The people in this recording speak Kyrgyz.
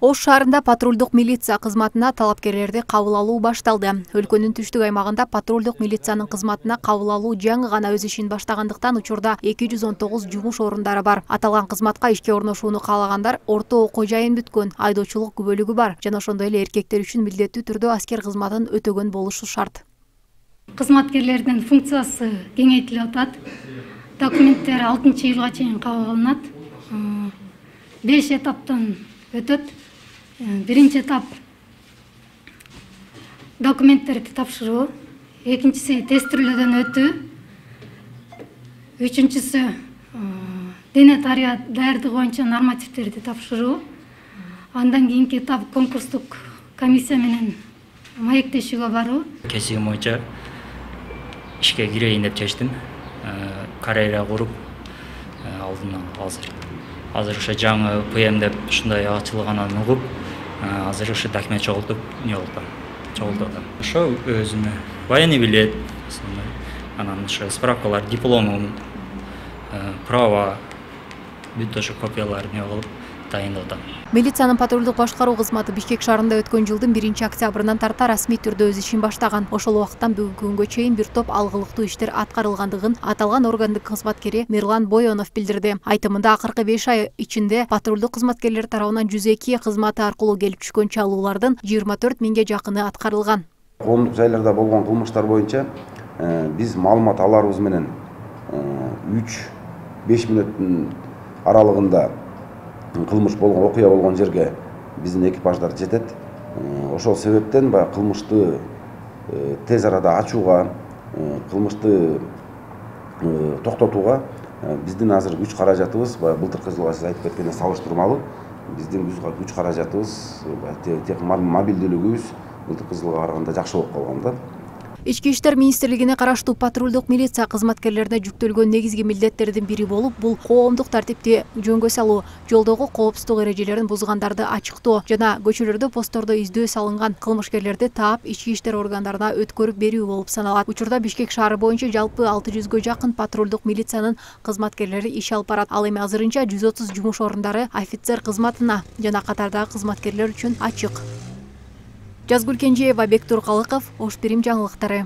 Ош шаарында патрулдук милиция кызматына талапкерлерди кабыл алуу башталды. Өлкөнүн түштүк аймагында патрулдук милициянын кызматына кабыл алуу жаңы гана өз ишин баштагандыктан учурда 219 жумуш орундары бар. Аталган кызматка ишке орношууну каалагандар орто окуу жайын бүткөн, айдоочулук күбөлүгү бар жана ошондой эле эркектер үчүн милдеттүү түрдө аскер кызматын өтөгөн болушу шарт. Кызматкерлердин функциясы кеңейтилип атат. Документтер 6-жылга чейин кабыл алынат. 5 этаптан өтөт. Биринчи этап документтерди тапшыруу, экинчиси тестирлөөдөн өтүү, үчүнчүсү дене даярдыгы боюнча нормативтерди тапшыруу, андан кийинки этап конкурстук комиссия менен маектешүүгө баруу. Кесибим боюнча ишке кирейин деп чечтим. Карьера куруп алдым азыр ошо жаңы ПМ деп ушундай ачылганын угуп, азыр ошо документ чогултуп, чогултуп. Ошо өзүмө военный билет, анан ошо справкалар, дипломум, права, бүт ошо копияларын кылып дайындап атам. Милициянын патрулдук башкаруу кызматы Бишкек шаарында өткөн жылдын 1-октябрынан тарта расмий түрдө өз ишин баштаган. Ошол убакыттан бүгүнкү күнгө чейин бир топ алгылыктуу иштер аткарылгандыгын аталган органдын кызматкери Мирлан Бойонов билдирди. Айтымында акыркы 5 ай ичинде патрулдук кызматкерлер тарабынан 102 кызматы аркылуу келип түшкөн чалуулардын 24 миңге жакыны аткарылган. Коомдук жайларда болгон кылмыштар боюнча биз маалымат аларыбыз менен 3-5 мүнөттүн аралыгында кылмыш болгон, окуя болгон жерге биздин экипаждар жетет. Ошол себептен баягы кылмышты тез арада ачууга, кылмышты токтотууга биздин азыр күч каражатыбыз былтыркы жылга сиз айтып кеткендей салыштырмалуу. Биздин күч каражатыбыз, мобилдүүлүгүбүз былтыркы жылга караганда жакшы болуп калган да. Ички иштер министрлигине караштуу патрулдук милиция кызматкерлерине жүктөлгөн негизги милдеттердин бири болуп, бул коомдук тартипти жөнгө салуу, жолдогу коопсуздук эрежелерин бузгандарды ачыктоо жана көчөлөрдө посттордо издөө салынган кылмышкерлерди таап ички иштер органдарына өткөрүп берүү болуп саналат. Учурда Бишкек шаары боюнча жалпы 600гө жакын патрулдук милициянын кызматкерлери иш алып барат. Ал эми азырынча 130 жумуш орундары офицер кызматына жана катардагы кызматкерлер үчүн ачык. Жазгүл Кенжеева, Бектур Калыков, Ош Бирим жаңылыктары.